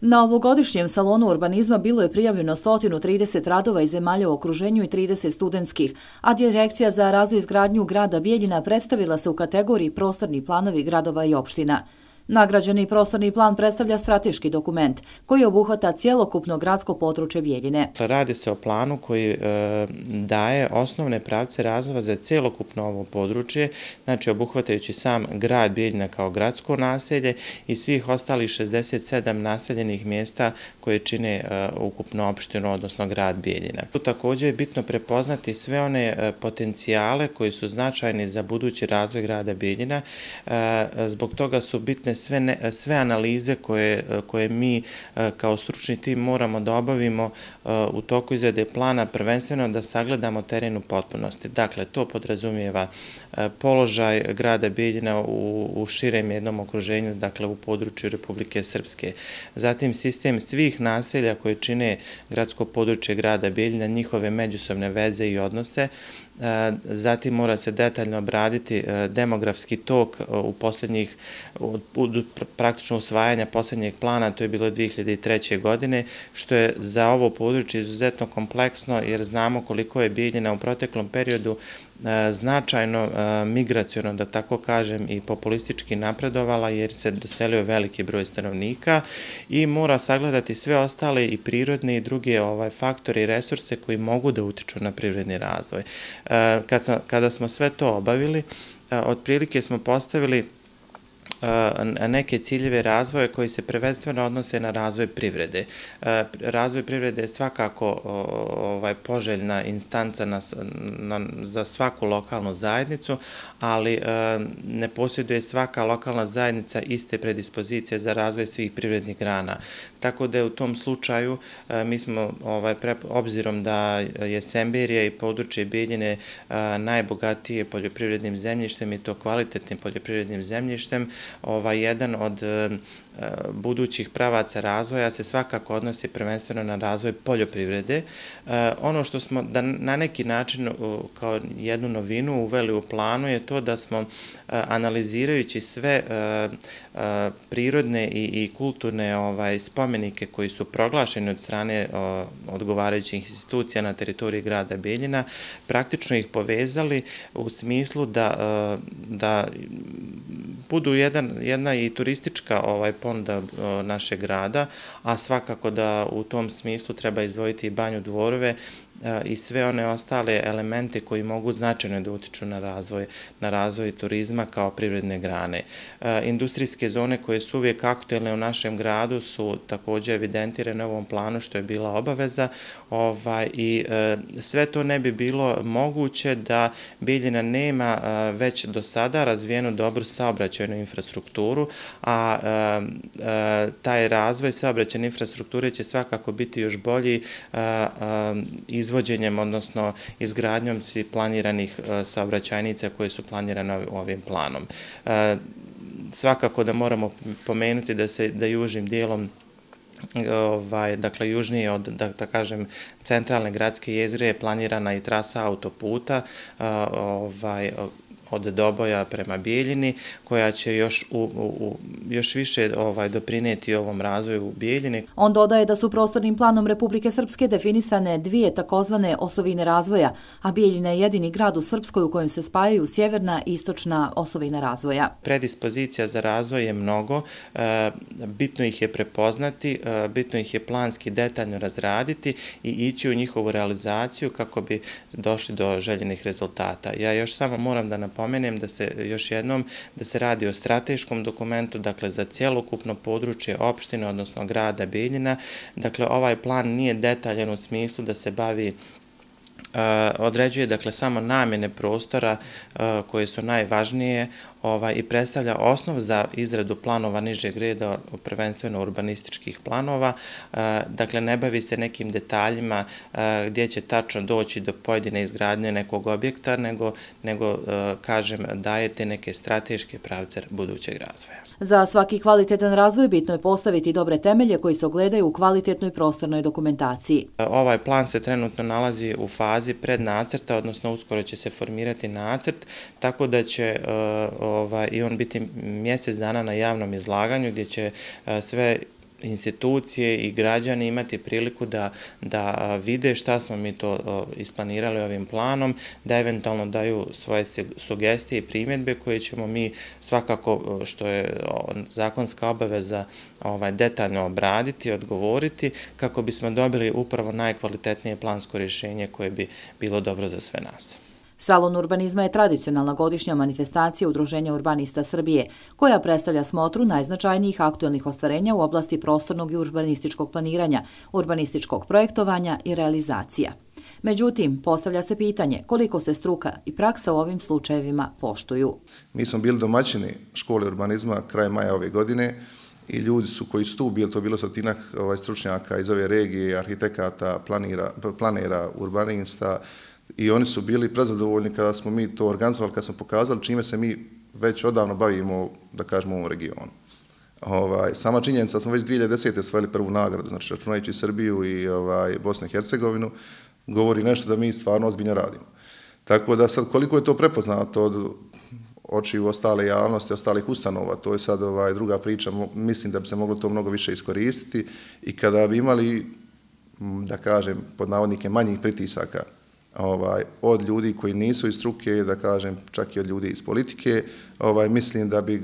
Na ovogodišnjem salonu urbanizma bilo je prijavljeno 130 radova iz zemalja u okruženju i 30 studentskih, a Direkcija za razvoj i izgradnju grada Bijeljina predstavila se u kategoriji prostorni planovi gradova i opština. Nagrađeni prostorni plan predstavlja strateški dokument koji obuhvata cjelokupno gradsko područje Bijeljine. Radi se o planu koji daje osnovne pravce razvoja za cjelokupno ovo područje, znači obuhvatajući sam grad Bijeljina kao gradsko naselje i svih ostalih 67 naseljenih mjesta koje čine ukupno opštinu, odnosno grad Bijeljina. Tu također je bitno prepoznati sve one potencijale koji su značajni za budući razvoj grada Bijeljina. Zbog toga su bitne sve analize koje mi kao stručni tim moramo da obavimo u toku izrade plana, prvenstveno da sagledamo teren u potpunosti. Dakle, to podrazumijeva položaj grada Bijeljina u širem jednom okruženju, dakle u području Republike Srpske. Zatim sistem svih naselja koje čine gradsko područje grada Bijeljina, njihove međusobne veze i odnose. Zatim mora se detaljno obraditi demografski tok u posljednjih, praktično usvajanja posljednjeg plana, to je bilo 2003. godine, što je za ovo područje izuzetno kompleksno jer znamo koliko je Bijeljina u proteklom periodu značajno migraciono, da tako kažem, i populistički napredovala jer se doselio veliki broj stanovnika i mora sagledati sve ostale i prirodne i druge faktore i resurse koji mogu da utiču na privredni razvoj. Kada smo sve to obavili, otprilike smo postavili neke ciljeve razvoja koji se prvenstveno odnose na razvoj privrede. Razvoj privrede je svakako poželjna instanca za svaku lokalnu zajednicu, ali ne posjeduje svaka lokalna zajednica iste predispozicije za razvoj svih privrednih grana. Tako da je u tom slučaju mi smo, obzirom da je Semberija i područje Bijeljine najbogatije poljoprivrednim zemljištem i to kvalitetnim poljoprivrednim zemljištem, jedan od budućih pravaca razvoja se svakako odnosi prvenstveno na razvoj poljoprivrede. Ono što smo na neki način kao jednu novinu uveli u planu je to da smo analizirajući sve prirodne i kulturne spomenike koji su proglašeni od strane odgovarajućih institucija na teritoriji grada Bijeljina, praktično ih povezali u smislu da budu jedna i turistička ponuda našeg grada, a svakako da u tom smislu treba izdvojiti i Banju Dvorove i sve one ostale elemente koji mogu značajno da utiču na razvoj turizma kao privredne grane. Industrijske zone koje su uvijek aktuelne u našem gradu su također evidentirane u ovom planu što je bila obaveza i sve to ne bi bilo moguće da Bijeljina nema već do sada razvijenu dobru saobraćajnu infrastrukturu, a taj razvoj saobraćajne infrastrukture će svakako biti još bolji izvođenjem, odnosno izgradnjom svih planiranih saobraćajnica koje su planirane ovim planom. Svakako da moramo pomenuti da južnim dijelom, dakle južnije od, da kažem, centralne gradske jezgre je planirana i trasa autoputa od Doboja prema Bijeljini, koja će još više doprinijeti ovom razvoju u Bijeljini. On dodaje da su prostornim planom Republike Srpske definisane dvije takozvane osovine razvoja, a Bijeljina je jedini grad u Srpskoj u kojem se spajaju sjeverna i istočna osovina razvoja. Predispozicija za razvoj je mnogo, bitno ih je prepoznati, bitno ih je planski detaljno razraditi i ići u njihovu realizaciju kako bi došli do željenih rezultata. Ja još samo moram da napomenem još jednom da se radi o strateškom dokumentu, dakle za cjelokupno područje opštine, odnosno grada Bijeljina. Dakle, ovaj plan nije detaljan u smislu da se određuje dakle samo namjene prostora koje su najvažnije i predstavlja osnov za izradu planova nižeg reda, prvenstveno urbanističkih planova. Dakle, ne bavi se nekim detaljima gdje će tačno doći do pojedine izgradnje nekog objekta, nego kažem, dajete neke strateške pravce budućeg razvoja. Za svaki kvalitetan razvoj bitno je postaviti dobre temelje koji se ogledaju u kvalitetnoj prostornoj dokumentaciji. Ovaj plan se trenutno nalazi u fazi prednacrta, odnosno uskoro će se formirati nacrt, tako da će i on biti mjesec dana na javnom izlaganju gdje će sve institucije i građani imati priliku da vide šta smo mi to isplanirali ovim planom, da eventualno daju svoje sugestije i primjedbe koje ćemo mi svakako, što je zakonska obaveza, detaljno obraditi, odgovoriti, kako bismo dobili upravo najkvalitetnije plansko rješenje koje bi bilo dobro za sve nas. Salon urbanizma je tradicionalna godišnja manifestacija Udruženja urbanista Srbije, koja predstavlja smotru najznačajnijih aktuelnih ostvarenja u oblasti prostornog i urbanističkog planiranja, urbanističkog projektovanja i realizacija. Međutim, postavlja se pitanje koliko se struka i praksa u ovim slučajevima poštuju. Mi smo bili domaćini škole urbanizma kraj maja ove godine i ljudi su koji su tu bili, to je bilo stotinak stručnjaka iz ove regije, arhitekata, planera, urbanista, i oni su bili prezadovoljni kada smo mi to organizovali, kada smo pokazali čime se mi već odavno bavimo, da kažemo, u ovom regionu. Sama činjenica da smo već 2010. osvojili prvu nagradu, znači računajući Srbiju i Bosnu i Hercegovinu, govori nešto da mi stvarno ozbiljno radimo. Tako da sad koliko je to prepoznato od očiju ostale javnosti, ostalih ustanova, to je sad druga priča, mislim da bi se moglo to mnogo više iskoristiti i kada bi imali, da kažem, pod navodnike manjih pritisaka od ljudi koji nisu iz struke, da kažem, čak i od ljudi iz politike, mislim da bi,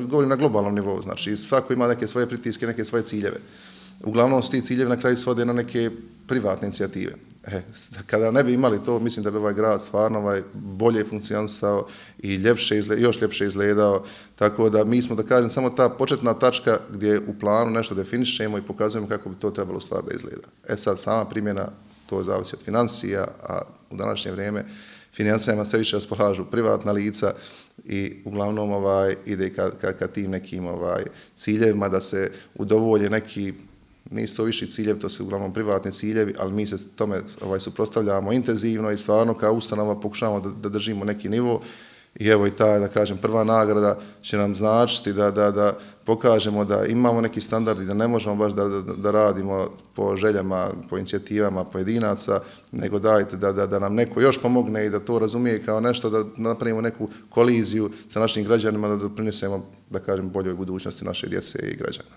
govorim na globalnom nivou, znači svako ima neke svoje pritiske, neke svoje ciljeve. Uglavnom, ti ciljevi na kraju svode na neke privatne inicijative. Kada ne bi imali to, mislim da bi ovaj grad stvarno bolje funkcionisao i još ljepše izgledao, tako da mi smo, da kažem, samo ta početna tačka gdje u planu nešto definišemo i pokazujemo kako bi to trebalo stvar da izgleda. Sad, sama primjena, to zavisi od financija, a u današnje vrijeme financijama sve više raspolažu privatna lica i uglavnom ide ka tim nekim ciljevima da se udovolje neki, nisu to viši ciljevi, to su uglavnom privatni ciljevi, ali mi se tome suprotstavljamo intenzivno i stvarno kao ustanova pokušavamo da držimo neki nivo. I evo i ta, da kažem, prva nagrada će nam značiti da pokažemo da imamo neki standard i da ne možemo baš da radimo po željama, po inicijativama pojedinaca, nego dajte da nam neko još pomogne i da to razumije kao nešto, da napravimo neku koliziju sa našim građanima, da doprinesemo, da kažem, boljoj budućnosti naše djece i građana.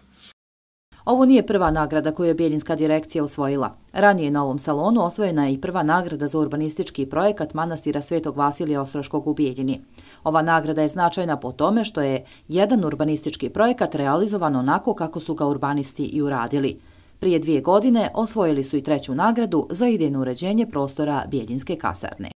Ovo nije prva nagrada koju je Bijeljinska direkcija osvojila. Ranije na ovom salonu osvojena je i prva nagrada za urbanistički projekat manastira Svetog Vasilija Ostroškog u Bijeljini. Ova nagrada je značajna po tome što je jedan urbanistički projekat realizovan onako kako su ga urbanisti i uradili. Prije 2 godine osvojili su i treću nagradu za idejno uređenje prostora Bijeljinske kasarne.